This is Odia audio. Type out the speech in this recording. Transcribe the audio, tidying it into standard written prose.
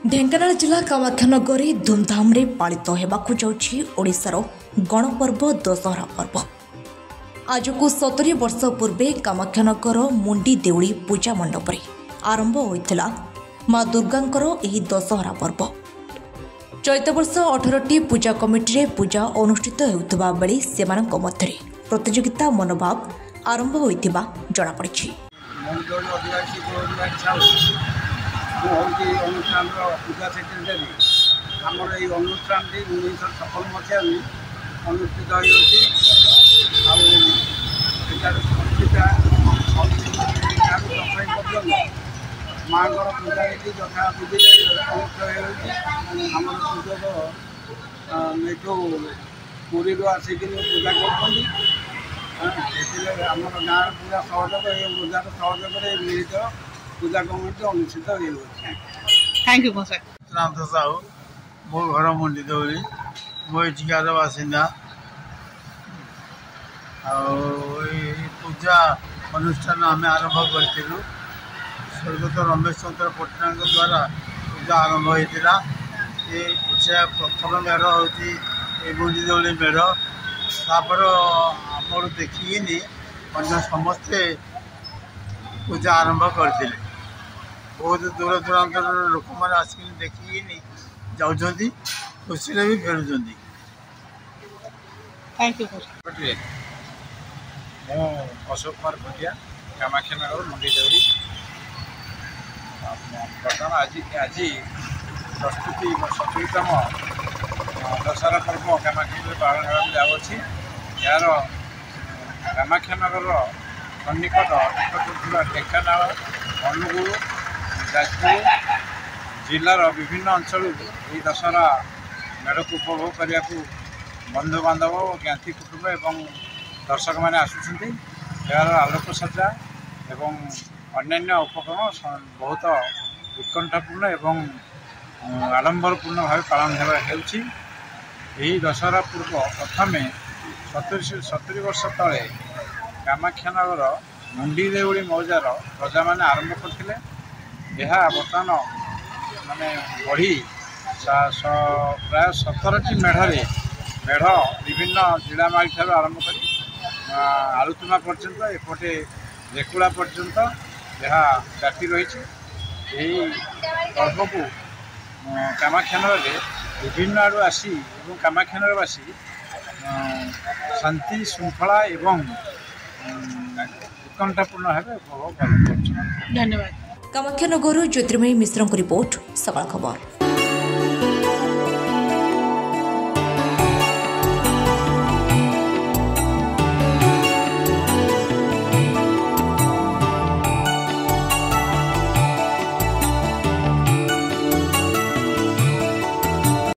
ଢେଙ୍କାନାଳ ଜିଲ୍ଲା କାମାକ୍ଷାନଗରରେ ଧୁମଧାମରେ ପାଳିତ ହେବାକୁ ଯାଉଛି ଓଡ଼ିଶାର ଗଣପର୍ବ ଦଶହରା ପର୍ବ। ଆଜକୁ 70 ବର୍ଷ ପୂର୍ବେ କାମାକ୍ଷାନଗର ମୁଣ୍ଡି ଦେଉଳି ପୂଜା ମଣ୍ଡପରେ ଆରମ୍ଭ ହୋଇଥିଲା ମା ଦୁର୍ଗାଙ୍କର ଏହି ଦଶହରା ପର୍ବ। ଚଳିତ ବର୍ଷ 18ଟି ପୂଜା କମିଟିରେ ପୂଜା ଅନୁଷ୍ଠିତ ହେଉଥିବା ବେଳେ ସେମାନଙ୍କ ମଧ୍ୟରେ ପ୍ରତିଯୋଗିତା ମନୋଭାବ ଆରମ୍ଭ ହୋଇଥିବା ଜଣାପଡ଼ିଛି। ମୁଁ ହେଉଛି ଅନୁଷ୍ଠାନର ପୂଜା ସେକ୍ରେଟାରୀ। ଆମର ଏଇ ଅନୁଷ୍ଠାନଟି 1956 ମସିହାରୁ ଅନୁଷ୍ଠିତ ହୋଇଅଛି, ଆଉ ଏଠାରେ ପୂଜା ଦଶମୀ ପର୍ଯ୍ୟନ୍ତ ମାଆଙ୍କର ପୂଜା ନୀତି ଯଥା ବିଧିରେ ଅନୁଷ୍ଠିତ ହେଉଛି। ଆମର ପୂଜକ ଏଠୁ ପୁରୀରୁ ଆସିକିନି ପୂଜା କରୁଛନ୍ତି। ଏଥିରେ ଆମର ଗାଁର ପୁରା ସହଯୋଗ ଏବଂ ବଜାର ସହଯୋଗରେ ମିଳିତ ପୂଜା କମିଟି ଅନୁଷ୍ଠିତ ହେଉଅଛି। Thank you sir. Nath Sahu, ମୋ ଘର ମୁଣ୍ଡିଦେଉଳି, ମୁଁ ଏଠିକାର ବାସିନ୍ଦା। ଆଉ ଏଇ ପୂଜା ଅନୁଷ୍ଠାନ ଆମେ ଆରମ୍ଭ କରିଥିଲୁ, ସ୍ୱର୍ଗତ ରମେଶ ଚନ୍ଦ୍ର ପଟ୍ଟନାୟକଙ୍କ ଦ୍ୱାରା ପୂଜା ଆରମ୍ଭ ହୋଇଥିଲା। ଏ ପୂଜା ପ୍ରଥମ ମେଢ଼ ହେଉଛି ଏ ମୁଣ୍ଡିଦେଉଳି ମେଢ଼। ତାପରେ ଆମର ଦେଖିକିନି ଅନ୍ୟ ସମସ୍ତେ ପୂଜା ଆରମ୍ଭ କରିଥିଲେ। ବହୁତ ଦୂର ଦୂରାନ୍ତରର ଲୋକମାନେ ଆସିକିନି ଦେଖିକିନି ଯାଉଛନ୍ତି, ଖୁସିରେ ବି ଫେରୁଛନ୍ତି। Thank you. ମୁଁ ଅଶୋକ କୁମାର ଖୁଣ୍ଟିଆ, କାମାକ୍ଷାନଗର ମୁଣ୍ଡିଦେଉଳି। ବର୍ତ୍ତମାନ ଆଜି ପ୍ରସ୍ତୁତି 70ତମ ଦଶହରା ପର୍ବ କାମାକ୍ଷାନଗରରେ ପାଳନ ହେବାକୁ ଯାଉଅଛି। ଏହାର କାମାକ୍ଷାନଗରର ସନ୍ନିକଟ ନିକଟରେ ଥିବା ଢେଙ୍କାନାଳ, ଅନୁଗୁଳ, ଯାଜପୁର ଜିଲ୍ଲାର ବିଭିନ୍ନ ଅଞ୍ଚଳରୁ ଏହି ଦଶହରା ମେଢ଼କୁ ଉପଭୋଗ କରିବାକୁ ବନ୍ଧୁବାନ୍ଧବ ଓ ଜ୍ଞାତି କୁଟୁମ୍ବ ଏବଂ ଦର୍ଶକମାନେ ଆସୁଛନ୍ତି। ଏହାର ଆଲୋକସଜ୍ଜା ଏବଂ ଅନ୍ୟାନ୍ୟ ଉପକରଣ ବହୁତ ଉତ୍କଣ୍ଠାପୂର୍ଣ୍ଣ ଏବଂ ଆଡ଼ମ୍ବରପୂର୍ଣ୍ଣ ଭାବେ ପାଳନ ହେଉଛି। ଏହି ଦଶହରା ପୂର୍ବ ପ୍ରଥମେ 70 ବର୍ଷ ତଳେ କାମାକ୍ଷାନଗର ମୁଣ୍ଡିଦେଉଳି ମୌଜାର ପ୍ରଜାମାନେ ଆରମ୍ଭ କରିଥିଲେ। ଏହା ବର୍ତ୍ତମାନ ମାନେ ବଢ଼ି ପ୍ରାୟ 17ଟି ମେଢ଼ରେ ମେଢ଼ ବିଭିନ୍ନ ଜିଳାମାଳି ଠାରୁ ଆରମ୍ଭ କରି ଆଲୁତୁମା ପର୍ଯ୍ୟନ୍ତ, ଏପଟେ ରେକୁଳା ପର୍ଯ୍ୟନ୍ତ ଏହା ବ୍ୟାପି ରହିଛି। ଏହି ପର୍ବକୁ କାମାକ୍ଷାନଗରରେ ବିଭିନ୍ନ ଆଡ଼ୁ ଆସି ଏବଂ କାମାକ୍ଷାନଗରବାସୀ ଶାନ୍ତି ଶୃଙ୍ଖଳା ଏବଂ ଉତ୍କଣ୍ଠାପୂର୍ଣ୍ଣ ଭାବେ ଉପଭୋଗ କରୁଛନ୍ତି। ଧନ୍ୟବାଦ। କାମାକ୍ଷାନଗରରୁ ଜ୍ୟୋତିର୍ମୟୀ ମିଶ୍ରଙ୍କ ରିପୋର୍ଟ, ସକାଳ ଖବର।